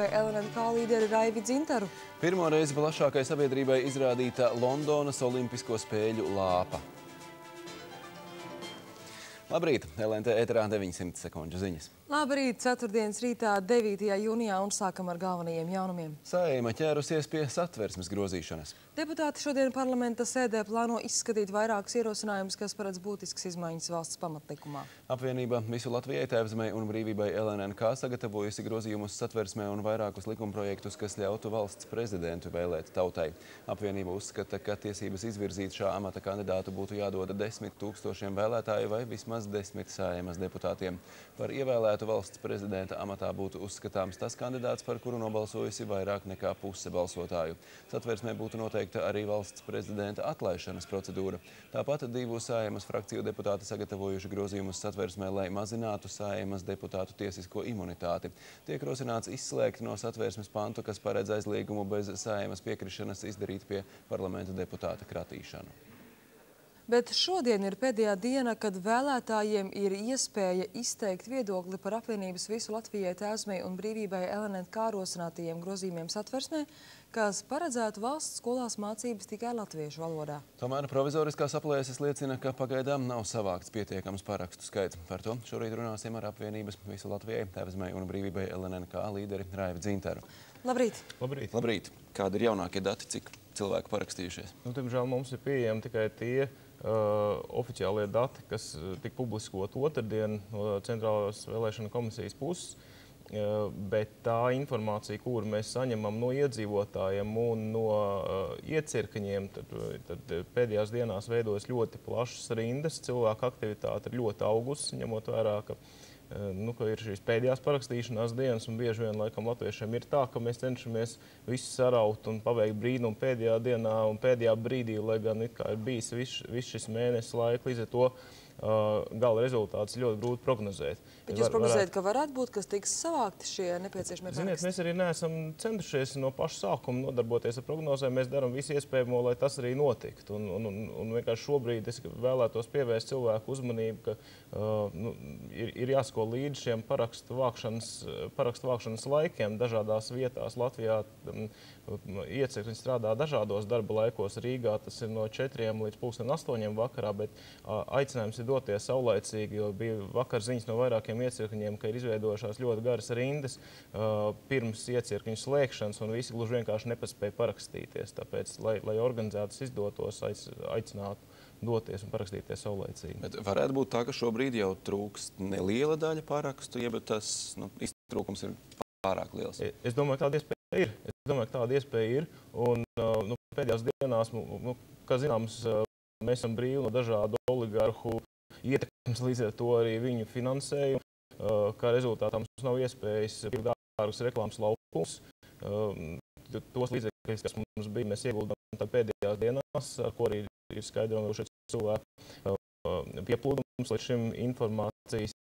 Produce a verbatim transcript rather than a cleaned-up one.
L N K līderi Raivi Dzintaru. Pirmo reizi plašākai sabiedrībai izrādīta Londonas Olimpisko spēļu lāpa. Labrīt, L N T ēterā deviņsimt sekundžu ziņas. Labrīt, ceturtdienas rītā devītajā jūnijā un sākam ar galvenajiem jaunumiem. Saeima ķērusies pie satversmes grozīšanas. Deputāti šodien parlamenta sēdē plāno izskatīt vairākus ierosinājumus, kas paredz būtiskas izmaiņas valsts pamatlikumā. Apvienība Visu Latvijai, Tēvzemei un Brīvībai L N K sagatavojusi grozījumus satversmē un vairākus likumprojektus, kas ļautu valsts prezidentu vēlēt tautai. Apvienība uzskata, ka tiesības izvirzīt šā amata kandidātu būtu jādoda desmit tūkstošiem vēlētāju vai vismaz desmit Saeimas deputātiem. Par ievēlētu valsts prezidenta amatā būtu uzskatāms tas kandidāts, par kuru nobalsojusi vairāk nekā puse balsotāju. Satversmē būtu noteikta arī valsts prezidenta atlaišanas procedūra. Tāpat divu Saeimas frakciju deputāti sagatavojuši grozījumus satversmē, lai mazinātu Saeimas deputātu tiesisko imunitāti. Tiek rosināts izslēgt no satversmes pantu, kas paredz aizliegumu bez Saeimas piekrišanas izdarīt pie parlamenta deputāta kratīšanu. Bet šodien ir pēdējā diena, kad vēlētājiem ir iespēja izteikt viedokli par apvienības Visu Latvijai, Tēvzemei un Brīvībai L N K rosinātajiem grozījumiem satversmē, kas paredzētu valsts skolās mācības tikai latviešu valodā. Tomēr provizoriskās aplēses liecina, ka pagaidām nav savākts pietiekams parakstu skaits. Par to šorīt runāsim ar apvienības Visu Latvijai, Tēvzemei un Brīvībai L N K līderi Raivi Dzintaru. Labrīt! Labrīt! Labrīt! Kādi ir jaunākie dati, cik cilvēku parakstījušies? Nu, tiemžēl mums ir pieejami tikai tie uh, oficiālie dati, kas tika publiskot otrdien no Centrālās vēlēšana komisijas puses, uh, bet tā informācija, kuru mēs saņemam no iedzīvotājiem un no uh, iecirkņiem, tad, tad pēdējās dienās veidojas ļoti plašas rindas, cilvēku aktivitāte ir ļoti augusi, ņemot vērā, ka Nu, ka ir šīs pēdējās parakstīšanās dienas, un bieži vien laikam latviešiem ir tā, ka mēs cenšamies visu saraut un paveikt brīnumu pēdējā dienā un pēdējā brīdī, lai gan it kā ir bijis viss vis šis mēnesis laika, līdz ar to uh, gala rezultāts ļoti grūti prognozēt. Bet jūs prognozējat, ka varētu būt, kas tiks savākti šie nepieciešamie paraksti? Ziniet, mēs arī neesam centušies no paša sākuma nodarboties ar prognozēm. Mēs darām visu iespējamo, lai tas arī notiktu. Un, un, un, un vienkārši šobrīd es vēlētos pievērst cilvēku uzmanību, ka uh, nu, ir, ir jāsako līdz šiem parakstu vākšanas, parakstu vākšanas laikiem dažādās vietās Latvijā. Um, Iecirkņi strādā dažādos darba laikos. Rīgā tas ir no četriem līdz pulksten astoņiem vakarā, bet uh, aicinājums ir doties saulaicīgi, jo bija vakar ziņas no vairākiem iecirkņiem, ka ir izveidojušās ļoti garas rindas uh, pirms iecirkņu slēgšanas, un visi gluži vienkārši nepaspēja parakstīties. Tāpēc, lai, lai organizētas izdotos, aicinātu doties un parakstīties saulaicīgi. Bet varētu būt tā, ka šobrīd jau trūkst neliela daļa parakstu, ja tas nu, iztrūkums ir pārāk liels. Es domāju, ka tāda iespēja ir. Es domāju, ka tāda iespēja ir. Un uh, nu, pēdējās dienās, nu, kā zināms, uh, mēs esam brīvi no dažādu oligarhu ietekmes, līdz ar to arī viņu finansējumu. Uh, kā rezultātā mums nav iespējas pirkt dārgus reklāmas laukumus. Uh, tos līdzekļus, kas mums bija, mēs ieguldām pēdējās dienās, ar ko arī ir skaidrojuši cilvēku uh, pieplūdums. Līdz šim informācijas